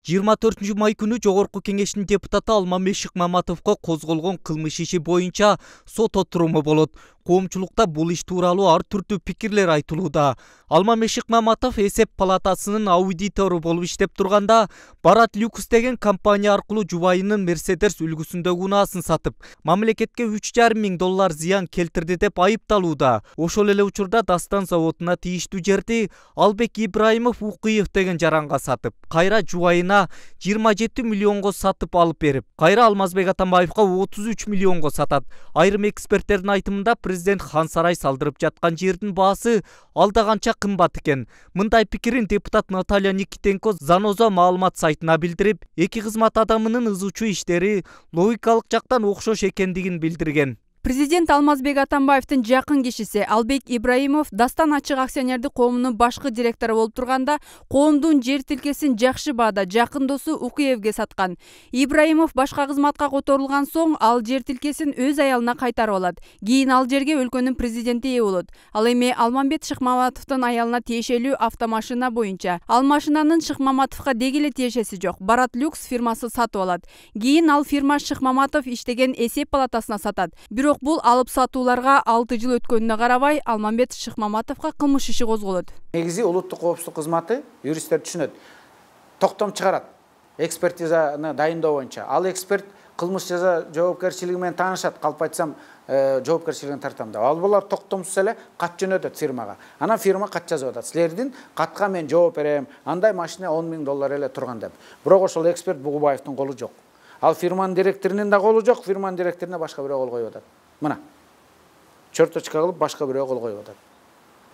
24 май күнү Жогорку Кеңештин депутаты Алмамбет Шыкмаматовго козголгон кылмыш иши боюнча сот отуруму болот. Коомчулукта бул иш тууралуу ар түрдүү пикирлер айтылууда. Алмамбет Шыкмаматов эсеп палатасынын аудитору болуп иштеп турганда, Барат Люкс деген компания аркылуу жубайынын Мерседес үлгүсүндөгү унаасын сатып, мамлекетке $3,500 зыян келтирди деп айыпталууда. Ошол эле учурда Дастан заводуна тийиштүү жерди Албек Ибраимов Укуев деген жаранга сатып, кайра жубайына 27 миллионго сатып алып берип, кайра Алмазбек Атамбаевга 33 миллионго сатат. Айрым эксперттердин айтымында президент Хан Сарай салдырып жаткан жердин баасы алда канча кымбат экен. Мындай пикирин депутат Наталья Никитенко Заноза маалымат сайтына билдирип, эки кызмат адамынын ызычуу иштери логикалык жактан окшош экендигин билдирген. Президент Алмазбек Атамбаевдин жакын кишиси Албек Ибраимов Дастан ачык акционердик коомунун башкы директору болуп турганда, коомдун жер тилкесин жакшы баада жакын досу Укуевге саткан. Ибраимов башка кызматка которулган соң ал жер тилкесин өз аялына кайтарып алат. Кийин ал жерге өлкөнүн президенти ээ болот. Ал эми Алмамбет Шыкмаматовдун аялына тиешелүү автомашина боюнча. Ал машинанын Шыкмаматовго деги эле тиешеси жок. Барат Люкс фирмасы сатып алат. Кийин ал фирма Шыкмаматов иштеген эсеп палатасына сатат. Бирок бул алып сатууларга 6 жыл өткөнүнө карабай, Алмамбет Шыкмаматовго кылмыш иши козголот. Негизи улуттук коопсуздук кызматы юристтер түшүнөт. Токтом чыгарат. Экспертизаны дайындоо боюнча. Ал эксперт кылмыш жаза жоопкерчилиги менен таанышат. Калп айтсам, жоопкерчилигин тартам деп. Ал булар токтомсуз эле кат жөнөтөт фирмага. Анан фирма кат жазып атат. Силердин катка мен жооп берем. Андай машина $10,000 эле турган деп. Бирок ошол эксперт Бугубаевдин колу жок. Ал фирманын директорунун да колу жок, фирманын директоруна башка бирөө кол коюп атат. Мына. Черточка кылып башка бирөө кол коюп атат.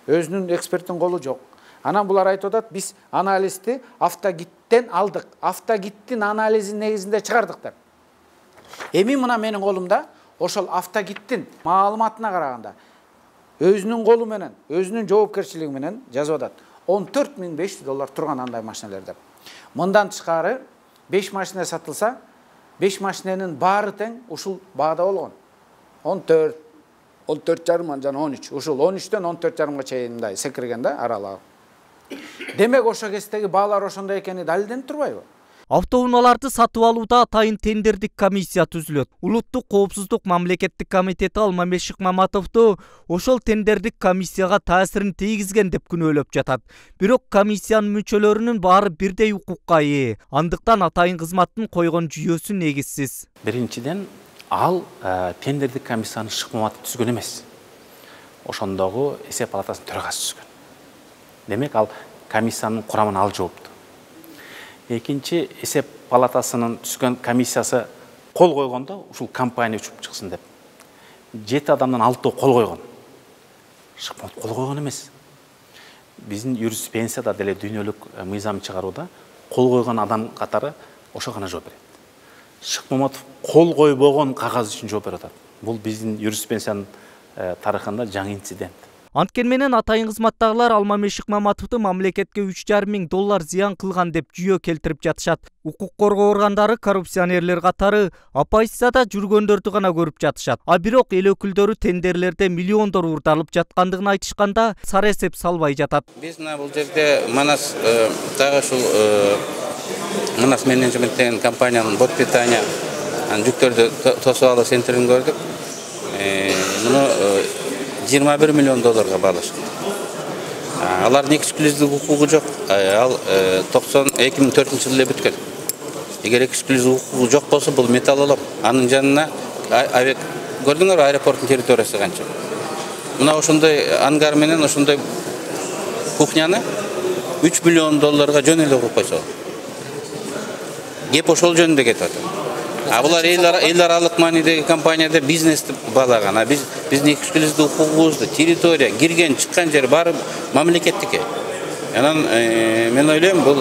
Өзүнүн эксперттин колу жок. Анан булар айтып атат, биз анализди автогиттен алдык. Автогиттин анализинин негизинде чыгардык деп. Эми мына менин колумда ошол автогиттин маалыматына караганда өзүнүн колу менен, өзүнүн жоопкерчилиги менен жазып атат. $14,500 турган андай машиналар деп. Мындан тышкары 5 машина сатылса, 5 машинанын баары тең ушул баада болгон. 14, 14,5 жана 13. Ушул 13төн 14,5га чейин мындай секирген да аралыгы. Демек ошо кездеги баалар ошондой экени далилденип турбайбы? Автоунааларды сатып алууда атайын тендердик комиссия түзүлөт. Улуттук коопсуздук мамлекеттик комитети Алмамбет Шыкмаматовду ошол тендердик комиссияга таасирин тийгизген деп күнөөлөп жатат. Бирок комиссиянын мүчөлөрүнүн баары бирдей укукка ээ. Андыктан атайын кызматтын койгон жүйөсү негизсиз. Биринчиден, ал тендердик комиссияны Шыкмаматов түзгөн эмес. Ошондогу эсеп палатасынын төрагасы түзгөн. Демек, ал комиссиянын курамына ал жоопту. Экинчи, эсеп палатасынын түзгөн комиссиясы кол койгондо ушул компания учуп чыксын деп. 7 адамдан 6 кол койгон. Шыкмаматов кол койгон эмес. Биздин юриспруденцияда деле дүйнөлүк мыйзам чыгарууда кол койгон адам катары ошо гана жооп берет. Шыкмаматов кол койбогон кагаз үчүн жооп берип атат. Бул биздин юриспруденциянын тарыхында жаңы инцидент. Анткени менен атайын кызматтагылар Алмамбет Шыкмаматовду мамлекетке $3,500 зыян кылган деп жүйө келтирип жатышат. Укук коргоо органдары коррупционерлер катары оппозицияда жүргөндөрдү гана көрүп жатышат. А бирок эл өкүлдөрү тендерлерде миллиондор урдалып жаткандыгын айтышканда сара эсеп салбай жатат. Биз бул жерде Манас дагы ушул Манас менеджмент деген компаниянын бот питания жүктөрдү тосуп алуу центрин көрдүк. Муну $21 миллион баалашкан. Алардын эксклюзивдик укугу жок. Ал 2004 жылы бүткөн. Эгер эксклюзивдик укугу жок болсо, бул металлолом. Анын жанына көрдүңөр аэропорттун территориясы канча. Мына ошондой ангар менен ошондой кухняны $3 миллион жөн эле куруп койсо. Кеп ошол жөнүндө кетип атат. Булар эл аралык маанидеги компанияда бизнести баалаган. Биздин эксклюзивдик укугубузду, территория, кирген, чыккан жер баары мамлекеттики. Анан мен ойлойм, бул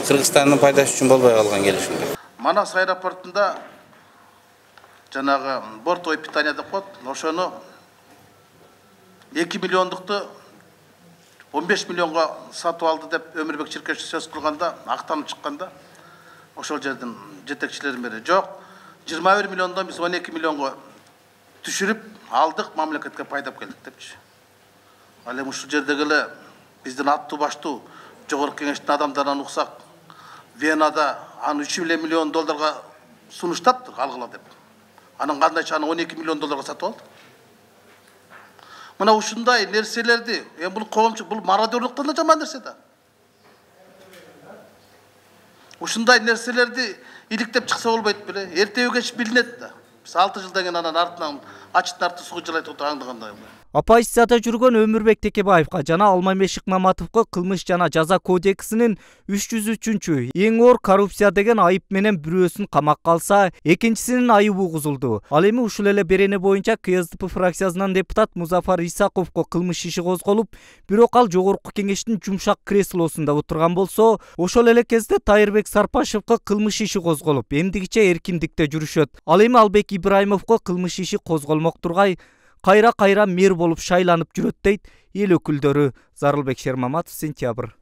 Кыргызстандын пайдасы үчүн болбой калган келишим. Манас аэропортунда жанагы бортовой питание деп коет. Ошону 2 миллиондукту 15 миллионго сатып алды деп Өмүрбек Чиркешев сөз кылганда, актанып чыкканда ошол жердин жетекчилеринин бири жок. 21 миллиондон биз 12 миллионго түшүрүп алдык, мамлекетке пайдап келдик депчи. Ал эми ушул жердеги эле биздин аттуу баштуу Жогорку Кеңештин адамдарынан уксак, Венада аны 3 миллион долларга сунуштаптыр алгыла деп. Анан кандайча аны 12 миллион долларга сатып алды. Мына ушундай нерселерди, бул коомчулук, бул мародерлуктан да жаман нерсе да. Ушундай нерселерди иликтеп чыкса болбойт беле? Эртеби кеч билинет да. Биз 6 жылдан кийин анан артынан ачтын арты сугу жылайт аңдыгандай. Оппозицияда жүргөн Өмүрбек Текебаевка жана Алмамбет Шыкмаматовго кылмыш жана жаза кодексинин 303 эң оор коррупция деген айып менен бирөөсүн камакка алса, экинчисинин айыбы угузулду. Ал эми ушул эле берене боюнча КСДП фракциясынан депутат Музафар Исаковго кылмыш иши козголуп, бирок ал жогорку кеңештин жумшак креслосунда отурган болсо, ошол эле кезде Тайырбек Сарпашевго кылмыш иши козголуп, эмдигиче эркиндикте жүрүшөт. Ал эми Албек Ибраимовго кылмыш иши козголмок тургай кайра мэр болуп шайланып жүрөт дейт эл өкүлдөрү. Зарылбек Шермаматов, Сентябрь.